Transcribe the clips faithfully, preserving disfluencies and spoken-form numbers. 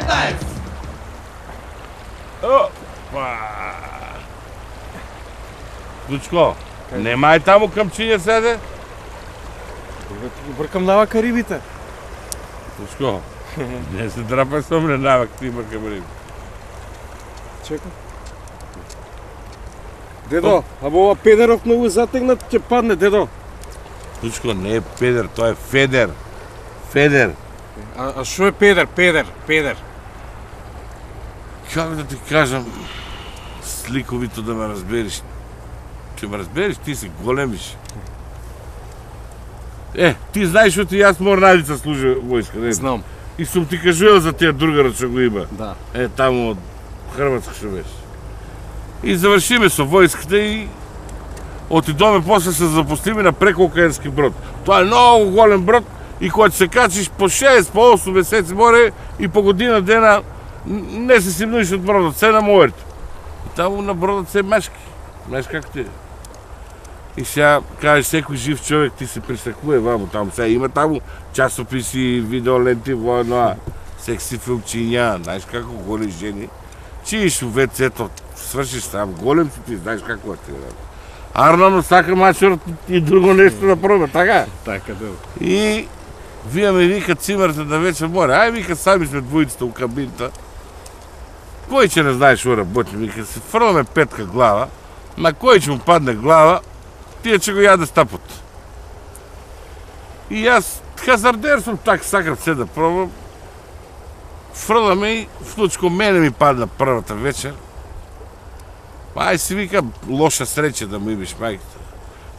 Капетаец! Опа! Дучко, немај таму камчиња седе? Бркам навака рибите. Дучко, не се драпај со мене навак, ти бркам риби. Чекай. Дедо, або ова педеров многу затегнат, ќе падне, дедо. Дучко, не е педер, тоа е федер. Федер. А, а шо е педер, педер, педер? Како да ти кажам, сликовито да ме разбериш. Ќе ме разбериш, ти си големиш. Е, ти знаеш што ти јас морнарица служи војска, не? Знам. И сум ти кажувал за тие другарот што го има. Да. Е, таму од Хрватска што беше. И завршиме со војската и отидоме после се запустиме на прекоокеански брод. Тоа е многу голем брод и кога се качиш по шест, по осум месеци море и по година дена не се симнуиш од бродот, се на морето. И таму на бродот се мешки. Знаеш како ти е. И сега кажеш секој жив човек ти се присакува ваму таму. Сега има таму часописи, видеоленти, воено, секси филмчиња, знаеш како голи жени. Чииш у вецето, свршиш там, голем си ти, знаеш како ти е. Арнано сака мачорот и друго нешто да проба, така? Така, да. И вие ме вика цимерте да вечер море. Ај, вика, сами сме двојцата у кабинта. Кој ќе не знаеш ора работи, вика, се фрламе петка глава, на кој ќе му падне глава, тие ќе го јаде стапот. И јас, хазардер сум, так сакам се да пробам. Фрламе и вклучко мене ми падна првата вечер. Ај си вика, лоша среќа да му имаш мајката.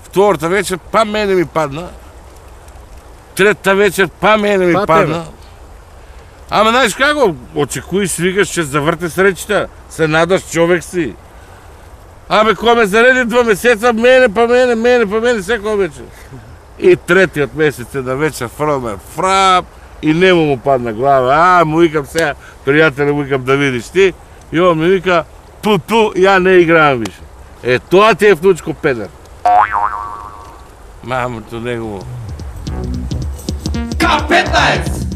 Втората вечер, па мене ми падна. Третата вечер, па мене ми Па падна. Ама знаеш како, очекуиш, викаш, ќе заврте среќата, се надаш, човек си. Абе, кога ме зареди два месеца, мене, па мене, мене, па мене, секој вечер. И третиот месец на вечер фрламе фрап и нему му падна глава. А, му викам сега, пријателе, му викам да видиш ти. И он ми вика, ту-ту, ја не играам више. Е, тоа ти е внучко педер. Мамото негово. Капетаец!